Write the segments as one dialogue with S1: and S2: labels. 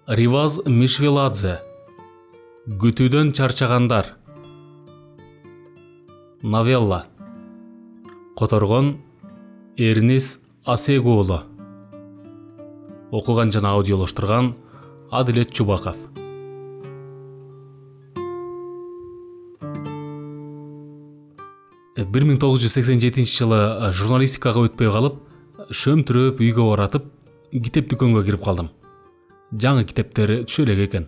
S1: Риваз Мишвеладзе. Күтүүдөн чарчагандар. Новелла. Которгон Эрнис Асегуулу. Окуган жана аудиолоштурган Адилет Чубаков. Бир 1987 жылы журналистикага өтпөй калып, шөмтүрөп үйгө баратып, китеп дүкөнгө кирип калдым. Жаңы китептер түшө элек экен.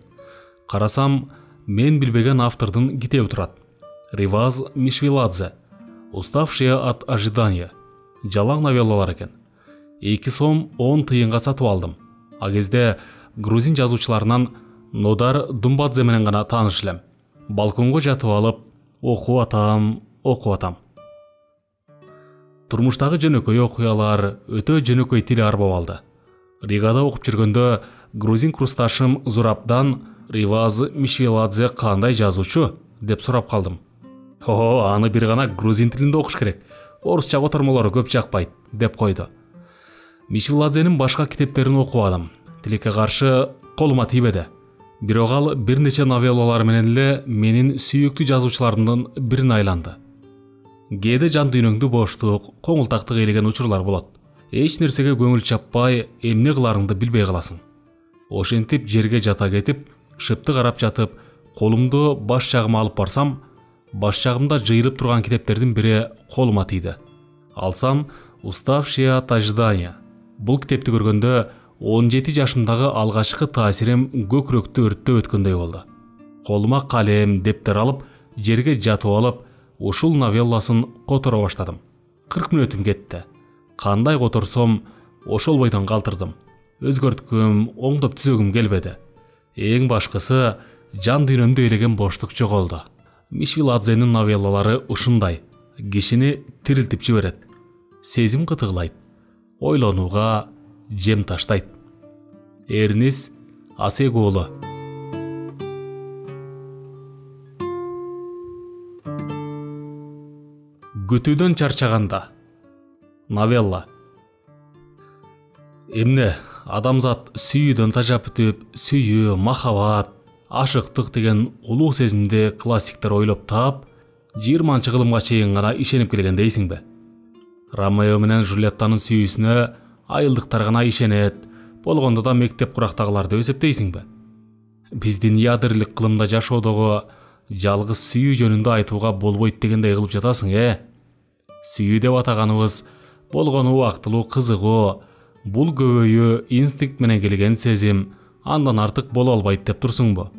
S1: Карасам, мен билбеген автордун китеби турат. Риваз Мишвеладзе. Уставшие от ожидания. Жалаң новеллалар экен. 2 сом 10 тыйынга сатып алдым. А кезде грузин жазуучуларынан Нодар Думбадзе менен гана тааныш элем. Балконго жатып алып, окуп атам. Турмуштагы жөнөкөй окуялар өтө жөнөкөй тил арбап алды. Ригада окуп жүргөндө грузин курсташым Зурабдан Риваз Мишвеладзе кандай жазуучу деп сурап калдым. Аны бир гана грузин тилинде окуш керек. Орусча котормолору көп жакпайт деп койду. Мишвеладзенин башка китептерин окубадым. Тилекке каршы колума тийбеди. Бирок ал бир нече новеллалар менен эле менин сүйүктүү жазуучуларымдын бирине айланды. Кээде жан дүйнөңдү боштук, коңултактык ээлеген учурлар болот. Эч нерсеге көңүл чаппай, эмне кыларыңды билбей каласың. Ошентип жерге жата кетип, шыпты карап жатып, колумду баш жагыма алып барсам, баш жагымда жыйылып турган китептердин бири колума тийди. Алсам, Уставшие от ожидания. Бул китепти көргөндө 17 жашымдагы алгачкы таасирим көкүрөктү өрттөп өткөндөй болду. Колума калем, дептер алып, жерге жатып алып, ушул новелласын которо баштадым. 40 мүнөтүм кетти. Кандай которсом, ошол бойдон калтырдым. Өзгөрткүм, оңдоп түзөгүм келбеди. Эң башкысы, жан дүйнөмдү ээлеген боштук жоголду. Мишвеладзенин новеллалары ушундай, кишини тирилтип жиберет. Сезим кытыглайт, ойлонууга жем таштайт. Эрнис Асегуулу. Күтүүдөн чарчаганда. Новелла. Эмне, адамзат сүйүүдөн тажап бүтүп, сүйүү, махабат, ашыктык деген улуу сезимди классиктер ойлоп таап, 20 кылымга чейин гана ишенип келген дейсиңби? Ромео менен Жульеттанын сүйүүсүнө айылдыктар гана ишенет, болгондо да мектеп курактагыларды эсептейсиңби? Биздин ядырлык кылымда жашоодогу жалгыз сүйүү жөнүндө айтууга болбойт дегендей кылып жатасың, Сүйүү деп атаганыбыз болгону убактылуу кызыгуу, бул көбөйүү инстинкт менен келген сезим, андан артык боло албайт деп турсуңбу?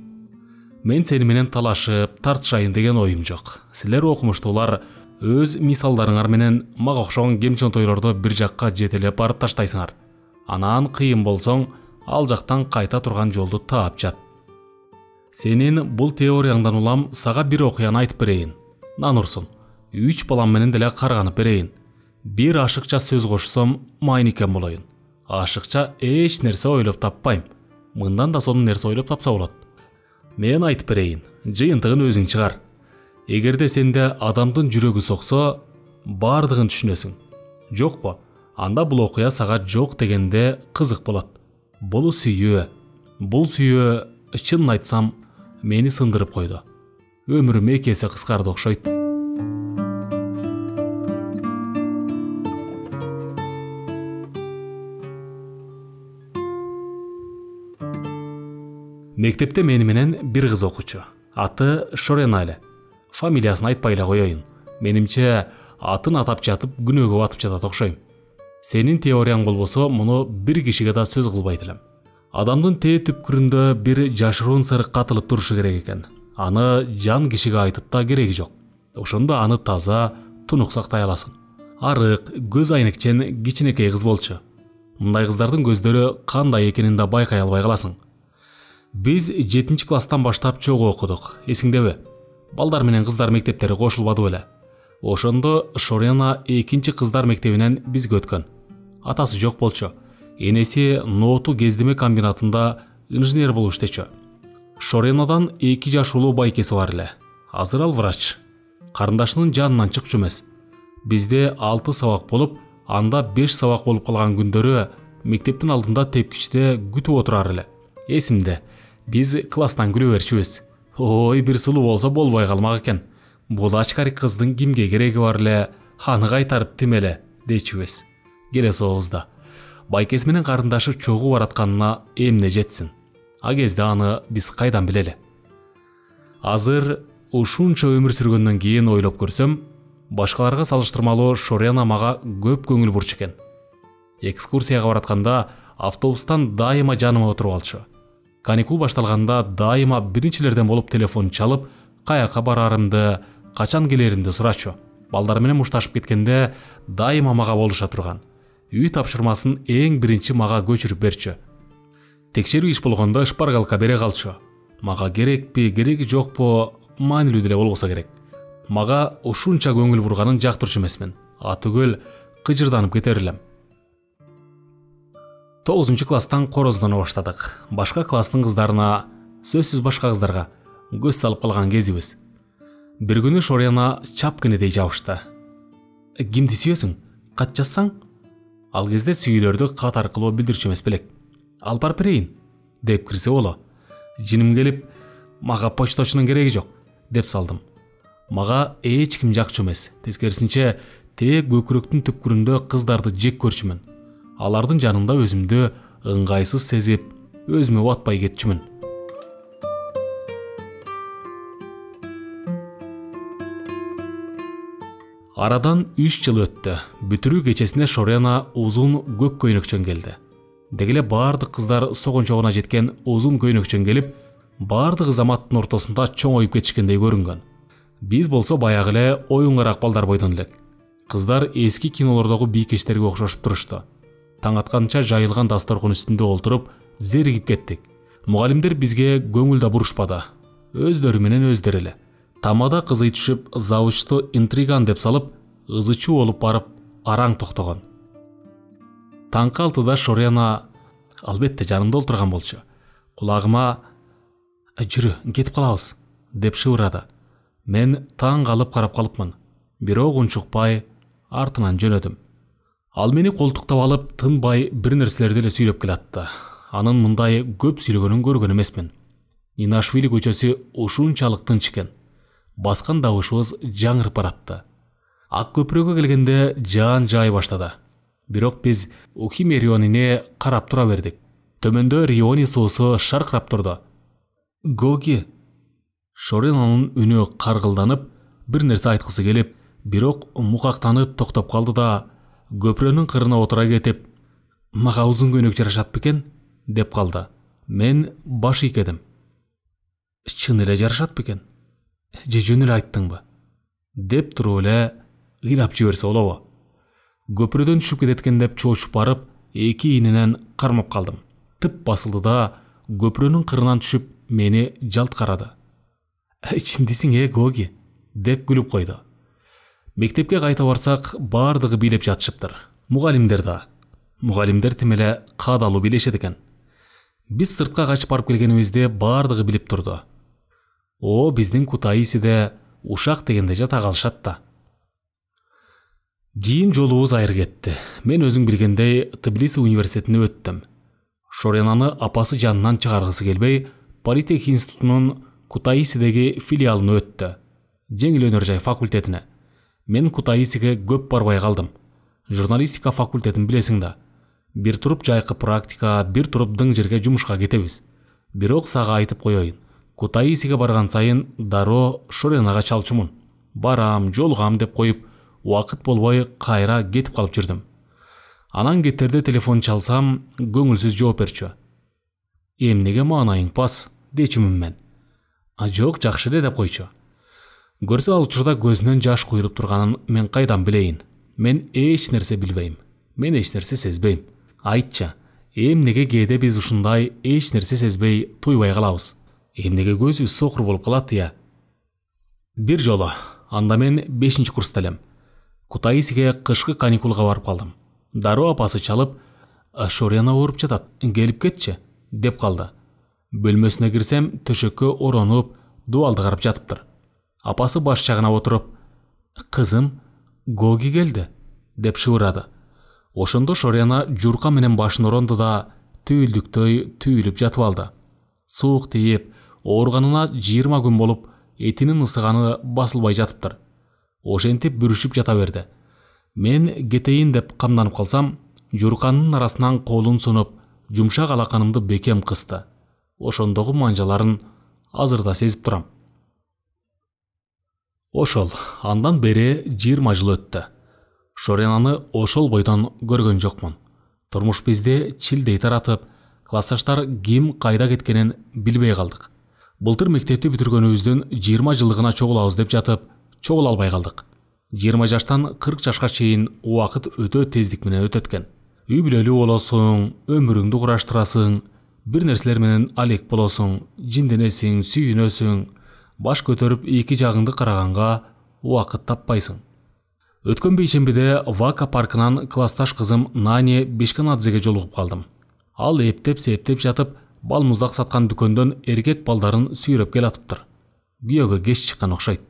S1: Мен сени менен талашып, тартышайын деген оюм жок. Силер окумуштуулар өз мисалдарыңар менен мага окшогон кемчонтойлорду бир жакка жетелеп барып таштайсыңар. Анан кыйын болсоң, ал жактан кайта турган жолду таап жат. Сенин бул теорияңдан улам сага бир окуяны айтып берейин. Нанурсун. 3 балам менен деле карганып берейин. Бир ашыкча сөз кошсом, майникен болоюн. Ашыкча эч нерсе ойлоп таппайм. Мындан да сонун нерсе ойлоп тапса болот. Мен айтып берейин, жыйынтыгын өзүң чыгар. Эгерде сенде адамдын жүрөгү соксо, бардыгын түшүнөсүң. Жокпу? Анда бул окуя сага жок дегенде кызык болот. Бул сүйүү. Бул сүйүү, чынын айтсам, мени сындырып койду. Өмүрүм 2 эсе кыскарды окшойт. Мектепте мени менен бир кыз окуучу. Аты Шорена эле. Фамилиясын айтпай эле коеюн. Менимче, атын атап жатып күнөөгө батып жатат окшойм. Сенин теорияң болбосо, муну бир кишиге да сөз кылбайт элем. Адамдын тээ түпкүрүндө бир жашыруун сыр катылып турушу керек экен. Аны жан кишиге айтып да кереги жок. Ошондо аны таза, тунук сактай аласың. Арык, көз айнекчен кичинекей кыз болчу. Мындай кыздардын көздөрү кандай экенин да байкай албай каласың. Биз 7 класстан баштап чогуу окудук. Эсиңдеби? Балдар менен кыздар мектептери кошулбады беле. Ошондо Шорена 2 кыздар мектебинен бизге өткөн. Атасы жок болчу. Энеси нооту кездеме комбинатында инженер болуп иштечү. Шоренадан 2 жаш улуу байкеси бар эле. Азыр ал врач. Карындашынын жанынан чыкчу эмес. Бизде 6 сабак болуп, анда 5 сабак болуп калган күндөрү мектептин алдында тепкичте күтүп отурар эле. Эсимде, биз класстан күлө берчүбүз. Ой, бир сулуу болсо болбой калмак экен. Бул ачкарик кыздын кимге кереги бар эле, аны кайтарып тимеле дечүбүз. Келесі оозда байкеси менен карындашы чогуу баратканына эмне жетсин. А кезде аны биз кайдан билели? Азыр ушунча өмүр сүргөндөн кийин ойлоп көрсөм, башкаларга салыштырмалуу Шорена мага көп көңүл бурчу экен. Экскурсияга баратканда автобустан дайыма жаныма отуруп алчу. Каникул башталганда дайыма биринчилерден болуп телефон чалып, каяка барарымды, качан келеримди сурачу. Балдар менен мушташып кеткенде дайыма мага болуша турган. Үй тапшырмасын эң биринчи мага көчүрүп берчү. Текшерүү иш болгондо шпаргалка бере калчу. Мага керекпи, кереги жокпу, маанилүү деле болбосо керек. Мага ушунча көңүл бурганын жактырчу эмесмин. Атүгөл кыжырданып кетер элем. 9 класстан короздоно баштадык. Башка класстын кыздарына, сөзсүз башка кыздарга көз салып калган кезибиз. Бир күнү Шорена чапкынедей жабышты. Кимди сүйөсүң? Кат жазсаң? Ал кезде сүйүүлөрдү кат аркылуу билдирчү эмес белек. Алып барып берейин деп кирсе боло. Жиним келип, мага почточунун кереги жок деп салдым. Мага эч ким жакчу эмес. Тескерисинче, тээ көкүрөктүн түпкүрүндө кыздарды жек көрчүмүн. Алардын жанында өзүмдү ыңгайсыз сезип, өзүмө батпай кетчүмүн. Арадан 3 жыл өттү. Бүтүрүү кечесине Шорена узун көк көйнөкчөн келди. Дегеле бардык кыздар согончогуна жеткен узун көйнөкчөн келип, бардык заматтын ортосунда чоңоюп кетишкендей көрүнгөн. Биз болсо баягы эле оюнгарак балдар бойдон элек. Кыздар эски кинолордогу бийкечтерге окшошуп турушту. Таң атканча жайылган дасторкон үстүндө олтуруп, зеригип кеттик. Мугалимдер бизге көңүл да бурушпады. Өздөрү менен өздөрү эле. Тамада кызый түшүп, завучту интриган деп салып, ызычуу болуп барып, араң токтогон. Таңкы 6-да Шорена, албетте жанымда олтурган болчу, кулагыма «Жүрү, кетип калабыз» деп шыбырады. Мен таң калып карап калыпмын. Бирок унчукпай артынан жөнөдүм. Ал мени колтуктап алып, тынбай бир нерселерди эле сүйлөп келатты. Анын мындай көп сүйлөгөнүн көргөн эмесмин. Инашвили көчөсү ушунчалык тынч экен. Баскан добушубуз жаңырып баратты. Ак көпүрөгкө келгенде жаан жай баштады. Бирок биз Ухиме рионине карап тура бердик. Төмөндө Риони суусу шаркырап турду. Гоги! Шоренанын үнү каргылданып, бир нерсе айткысы келип, бирок мукактанып токтоп калды да, көпүрөнүн кырына отура кетип, «Мага узун көйнөк жарашат бекен?» деп калды. Мен баш ийкедим. «Чын эле жарашат бекен? Же жөн эле айттыңбы?» деп туруп эле ыйлап жиберсе болобу? Көпүрөдөн түшүп кететкен деп чоочуп барып, эки ийненен кармап калдым. Тып басылды да, көпүрөнүн кырынан түшүп, мени жалт карады. «Чындысың Гоги?» деп күлүп койду. Мектепке кайта барсак, бардыгы бийлеп жатышыптыр. Мугалимдер да. Мугалимдер тим эле каадалуу бийлешет экен. Биз сыртка качып барып келгенибизде бардыгы билип турду. О, биздин Кутаисиде ушак дегенде жата калышат да. Кийин жолубуз айры кетти. Мен өзүң билгендей Тбилиси университетине өттүм. Шоренаны апасы жанынан чыгаргысы келбей, Политех институтунун Кутаисидеги филиалына өттү. Жеңил өнөр жай факультетине. Мен Кутаисиге көп барбай калдым. Журналистика факультетин билесиң да. Бир туруп жайкы практика, бир туруп дың жерге жумушка кетебиз. Бирок сага айтып коеюн. Кутаисиге барган сайын дароо Шоренага чалчумун. Барам, жолугам деп коюп, убакыт болбой кайра кетип калып жүрдүм. Анан кеттерде телефон чалсам, көңүлсүз жооп берчү. Эмнеге маанайың пас, дечүмүн мен. Жок, жакшы эле деп койчу. Көрсө ал учурда көзүнөн жаш куйруп турганын мен кайдан билейин? Мен эч нерсе билбейм. Мен эч нерсе сезбейм. Айтчы, эмнеге кээде биз ушундай эч нерсе сезбей туйбай калабыз? Эмнеге көзүбүз сокур болуп калат я? Бир жолу, анда мен 5-курста элем. Кутаисиге кышкы каникулга барып калдым. Дароо апасы чалып, «Шорена ооруп жатат, келип кетчи» деп калды. Бөлмөсүнө кирсем, төшөккө оронуп, дубалды карап жатыптыр. Апасы баш жагына отуруп, «Кызым, Гоги келди» деп шыбырады. Ошондо Шорена журка менен башын оронду да, түйүлдүктөй түйүлүп жатып алды. Суук тийип, ооруганына 20 күн болуп, этинин ысыганы басылбай жатыптыр. Ошентип бүрүшүп жата берди. Мен кетейин деп камданып калсам, журканынын арасынан колун сунуп, жумшак алаканымды бекем кысты. Ошондогу манжаларын азыр да сезип турам. Ошол, андан бери 20 жыл өттү. Шоренаны ошол бойдон көргөн жокмун. Турмуш бизди чилдей таратып, классташтар ким кайда кеткенин билбей калдык. Былтыр мектепти бүтүргөнүбүздүн 20 жылдыгына чогулабыз деп жатып, чогула албай калдык. 20 жаштан 40 жашка чейин убакыт өтө тездик менен өтөт экен. Үй бүлөлүү болосуң, өмүрүңдү кураштырасың, бир нерселер менен алек болосуң, жинденесиң, сүйүнөсүң, баш көтөрүп эки жагыңды караганга убакыт таппайсың. Өткөн бейшембиде Вака паркынан классташ кызым Нани Бешканадзеге жолугуп калдым. Ал эптеп-септеп жатып, балмуздак саткан дүкөндөн эркек балдарын сүйрөп келатыптыр. Күйөөгө кеч чыккан окшойт.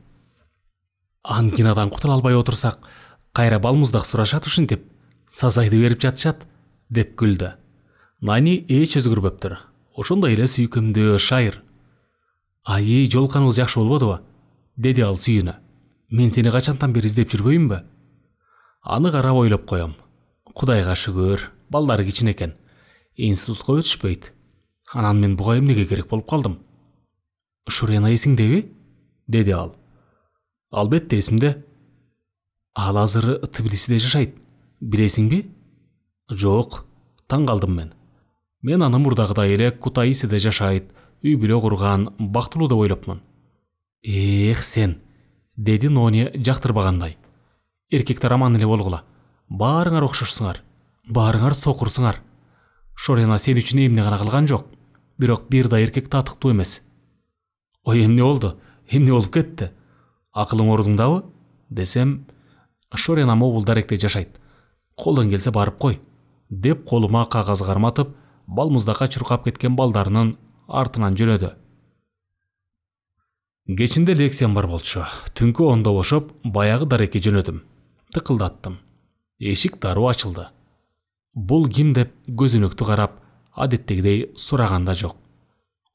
S1: Ангинадан кутула албай отурсак, кайра балмуздак сурашат ушинтип, сазайды берип жатышат, деп күлдү. Нани эч өзгөрбөптүр. Ошондой эле сүйкүмдүү, шайыр. Ай, жолукканыбыз жакшы болбодубу? Деди ал сүйүнө. Мен сени качантан бери издеп жүрбөйүмбү? Аны карап ойлоп коем. Кудайга шүгүр, балдары кичине экен. Институтка өтүшпөйт. Анан мен буга эмнеге керек болуп калдым? Шурена эсиңдеби? Деди ал. Албетте эсимде. Ал азыр Тбилисиде жашайт. Билесиңби? Жок, таң калдым мен. Мен аны мурдагыдай эле Кутаисиде жашайт, үй бүлө курган, бактылуу деп ойлопмун. Эх сен, деди Нони жактырбагандай. Эркектер аман эле болгула. Баарыңар окшошсуңар. Баарыңар сокурсуңар. Шорена сен үчүн эмне гана кылган жок. Бирок бир да эркек татыктуу эмес. Ой, эмне болду? Эмне болуп кетти? Акылың ордуңдабы? Десем, Шорена Мобулдаректе жашайт. Колдон келсе барып кой, деп колума кагаз карматып, балмуздакка чуркап кеткен балдарынын артынан жөнөдү. Кечинде лекциям бар болчу. Түнкү 10-да бошоп, баягы дарекке жөнөдүм. Тыкылдаттым. Эшик дароо ачылды. Бул ким деп көзүнөктү карап, адеттегидей сураган да жок.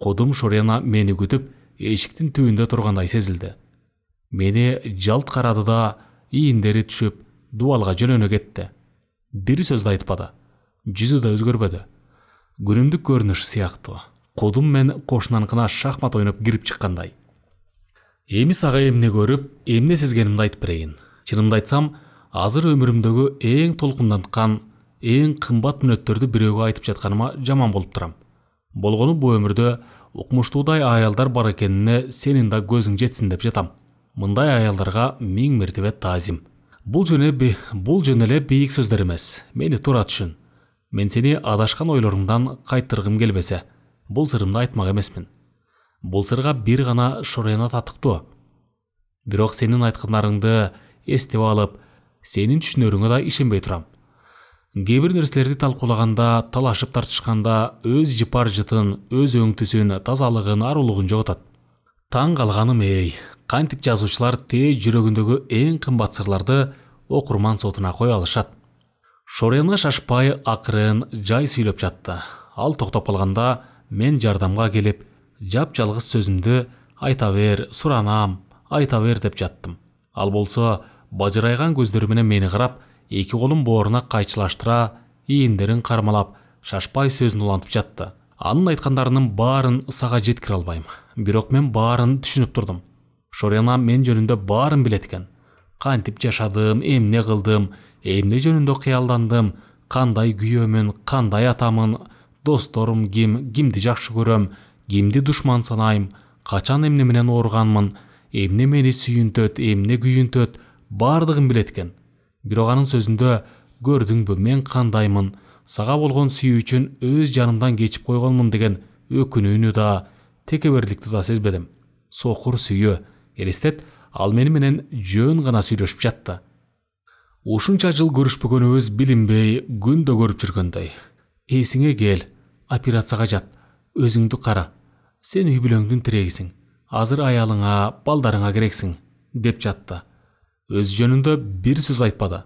S1: Кодум Шорена мени күтүп, эшиктин түбүндө тургандай сезилди. Мени жалт карады да, ийиндери түшүп, дубалга жөнөнө кетти. Бир сөз да айтпады. Жүзү да өзгөрбөдү. Күнүмдүк көрүнүш сыяктуу. Кодум мен кошунанкына шахмат ойноп кирип чыккандай. Эми сага эмне көрүп, эмне сезгенимди айтып берейин. Чынымды айтсам, азыр өмүрүмдөгү эң толкунданткан, эң кымбат мүнөттөрдү бирөөгө айтып жатканыма жаман болуп турам. Болгону бу өмүрдө укмуштуудай аялдар бар экенине сенин да көзүң жетсин деп жатам. Мындай аялдарга 1000 мертебе таазим. Бул жөн эле бийик сөздөр эмес. Мени туура түшүн. Мен сени адашкан ойлоруңдан кайтыргым келбесе, бул сырымды айтмак эмесмин. Бул сырга бир гана Шорена татыктуу. Бирок сенин айткандарыңды эстеп алып, сенин түшүнөрүңө да ишенбей турам. Кээ бир нерселерди талкуулаганда, талашып тартышканда өз жыпар жытын, өз өңтүсүн, тазалыгын, арулугун жоготот. Таң калганым кантип жазуучулар тээ жүрөгүндөгү эң кымбат сырларды окурман сотуна кое алышат. Шорена шашпай, акырын, жай сүйлөп жатты. Ал токтоп калганда мен жардамга келип, жап-жалгыз сөзүмдү айта бер, суранам, айта бер деп жаттым. Ал болсо бажырайган көздөрү менен мени карап, эки колун бооруна кайчылаштыра, ийиндерин кармалап, шашпай сөзүн улантып жатты. Анын айткандарынын баарын сага жеткире албайм. Бирок мен баарын түшүнүп турдум. Шорена мен жөнүндө баарын билет экен. Кантип жашадым, эмне кылдым, эмне жөнүндө кыялдандым, кандай күйөөмүн, кандай атамын, досторум кимди жакшы көрөм, кимди душман санайм, качан эмне менен ооруганмын, эмне мени сүйүнтөт, эмне күйүнтөт, баардыгын билет экен. Бирок анын сөзүндө көрдүңбү мен кандаймын, сага болгон сүйүүчүн өз жанымдан кечип койгонмун деген өкүнүүнү да, текеберликти да сезбедим. Сокур сүйүү. Элестет, ал мени менен жөн гана сүйлөшүп жатты. Ушунча жыл көрүшпөгөнүбүз билинбей, күндө көрүп жүргөндөй. Эсиңе кел, операцияга жат, өзүңдү кара. Сен үй бүлөңдүн тирегисиң. Азыр аялыңа, балдарыңа керексиң, деп жатты. Өз жөнүндө бир сөз айтпады.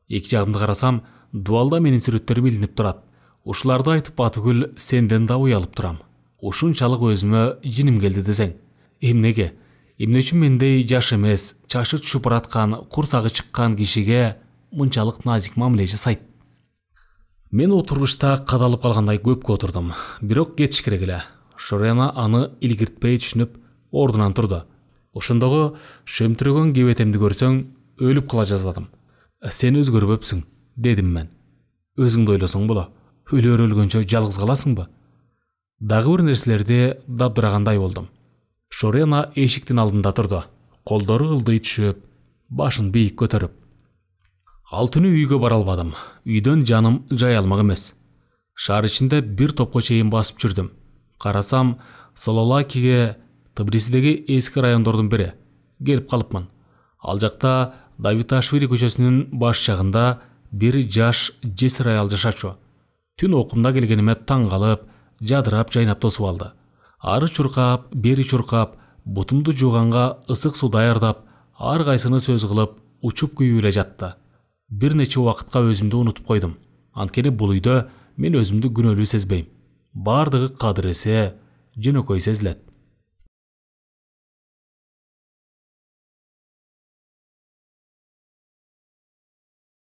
S1: Эки жагымды карасам, дубалда менин сүрөттөрүм илинип турат. Ушуларды айтып батыгүл сенден да уялып турам. ушунчалык өзүмө жиним келди десең. Эмнеге? Эмне үчүн мендей жаш эмес, чашы чупураткан, курсагы чыккан кишиге мынчалык назик мамиле жасайт? Мен отургучта кадалып калгандай көпкө отурдум. Бирок кетиш керек эле. Шорена аны илгиртпей түшүнүп, ордунан турду. Ошондогу шөмтүрөгөн кебетемди көрсөң, өлүп кала жаздадым. Сен өзгөрбөпсүң, дедим мен. Өзүңдү ойлосоң боло. Өлөр өлгөнчө жалгыз каласыңбы? Дагы бир нерселерди дабдырагандай болдум. Шорена эшиктин алдында турду. Колдору ылдый түшүп, башын бийик көтөрүп. Ал түнү үйгө бара албадым. Үйдөн жаным жай алмак эмес. Шаар ичинде бир топко чейин басып жүрдүм. Карасам, Сололакиге, Тбилисидеги эски райондордун бири, келип калыпмын. Ал жакта Давиташвили көчөсүнүн баш жагында бир жаш жесир аял жашачу. Түн окумда келгениме таң калып, жадырап жайнап тосуп алды. Ары чуркап, бери чуркап, бутумду жууганга ысык суу даярдап, ар кайсыны сөз кылып, учуп күйүп эле жатты. Бир нече убакытка өзүмдү унутуп койдум. Анткени бул үйдө мен өзүмдү күнөөлүү сезбейм. Бардыгы кадыр эсе, жөнөкөй сезилет.